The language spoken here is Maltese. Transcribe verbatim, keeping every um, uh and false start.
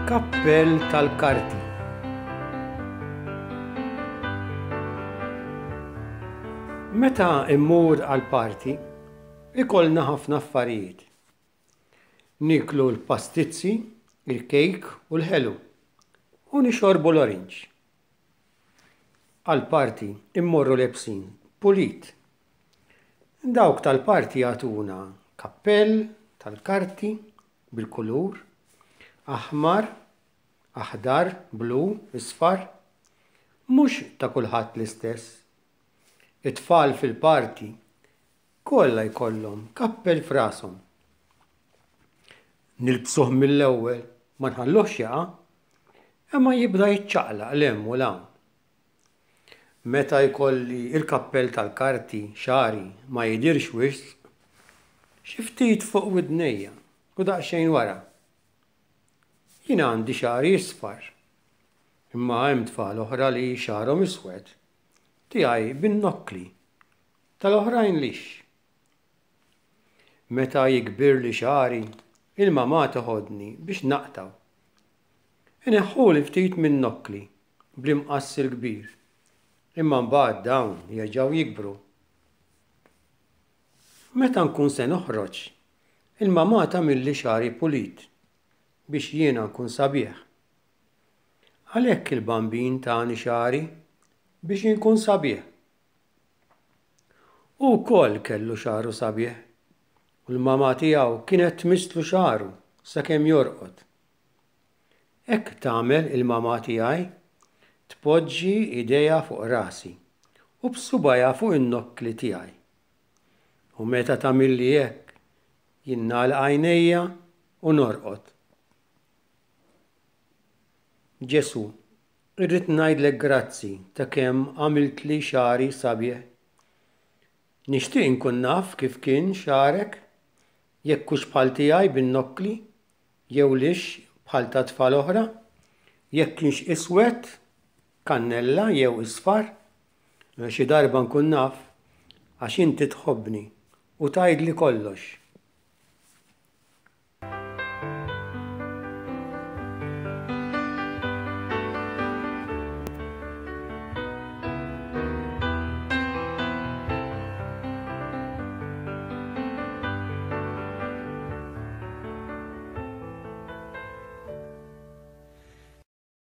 Kappell tal-karti. Meta immur għal-parti, ikollna ħafna affarijiet. Niklu l-pastizzi, il-kejk u l-ħelu, u nixorbu l-orange. Għal-parti immorru lebsin pulit. Dawk tal-parti jagħtuna kappell tal-karti bil-kulur, aħmar, aħdar, blu, isfar, mhux ta' kulħadd l-istess. It-tfal fil-parti kollha jkollhom kappell f'rashom. Nilbsuh mill-ewwel ma nħalluhx jaqa', imma jibda jiċċaqlaq 'l hemm u 'l hawn. Meta jkolli il-kappell tal-karti xagħri ma jidhirx wisq, xi ftit fuq widnejja u daqsxejn wara. Jien għandi xagħri isfar, imma hemm tfal oħra li xagħarhom iswed. Tiegħi bin-nokkli, tal-oħrajn lix. Meta jikbirli xagħri, il-mamà toħodni biex naqtgħu. Ineħħuli ftit min-nokkli bl-imqass il-kbir, imma mbagħad dawn jerġgħu jikbru. Meta nkun se noħroġ, il-mamà tagħmilli xagħri pulit biex jiena nkun sabiħ. Għalhekk il-Bambin tani xagħri biex inkun sabiħ. Hu wkoll kellu xagħru sabiħ u l-mamà tiegħu kienet tmisslu xagħru sakemm jorqod. Hekk tagħmel il-mamà tiegħi, tpoġġi idejha fuq rasi u b'subgħajha fuq in-nokkli tiegħi. U meta tagħmilli hekk, jien nagħlaq għajnejja u norqod. Ġesù, irrid ngħidlek grazzi ta' kemm għamiltli xagħri sabiħ. Nixtieq inkun naf kif kien xagħrek, jekk hux bħal tiegħi bin-nokkli, jew lix bħal ta' tfal oħra, jekk kienx iswed, kannella jew isfar. Xi darba nkun naf għax inti tħobbni u tgħidli kollox.